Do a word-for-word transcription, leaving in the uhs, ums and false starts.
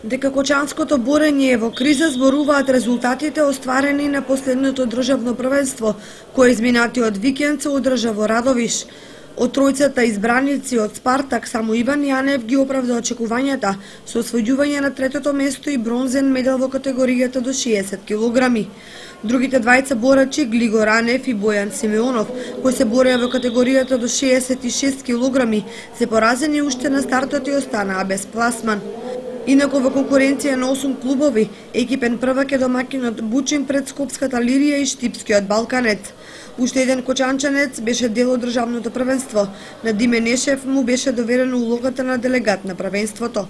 Дека кочанското борење е во криза зборуваат резултатите остварени на последното државно првенство, кое изминатиот викенд се одржа во Радовиш. Од тројцата избраници од Спартак, само Иван Јанев ги оправда очекувањата со освојување на третото место и бронзен медал во категоријата до шеесет килограми. Другите двајца борачи, Глигор Ранев и Бојан Симеонов, кои се бореа во категоријата до шеесет и шест килограми, се поразени уште на стартот и останаа без пласман. Инаку во конкуренција на осум клубови, екипен првак е домаќинот Бучин пред Скопската Лирија и Штипскиот Балканец. Уште еден кочанчанец беше дел од државното првенство. На Диме Нешев му беше доверено улогата на делегат на првенството.